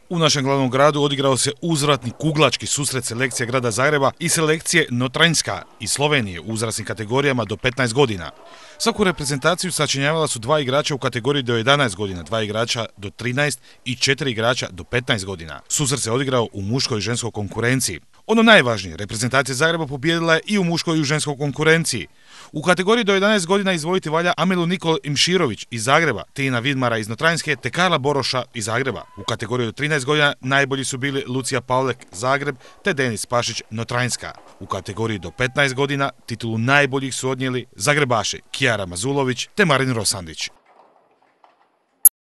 U našem glavnom gradu odigrao se uzvratni kuglački susret selekcije grada Zagreba i selekcije Notranjska iz Slovenije u uzrasnim kategorijama do 15 godina. Svaku reprezentaciju sačinjavala su 2 igrača u kategoriji do 11 godina, 2 igrača do 13 i 4 igrača do 15 godina. Susret se odigrao u muškoj i ženskoj konkurenciji. Ono najvažnije, reprezentacija Zagreba pobijedila je i u muškoj i u ženskoj konkurenciji. U kategoriji do 11 godina izdvojiti valja Amelu Nikol Imširović iz Zagreba, Tina Vidmara iz Notranjske te Karla Boroša iz Zagreba. U kategoriji do 13 godina najbolji su bili Lucija Pavlek Zagreb te Denis Pašić Notranjska. U kategoriji do 15 godina titulu najboljih su odnijeli Zagrebaši Kijara Mazulović te Marin Rosandić.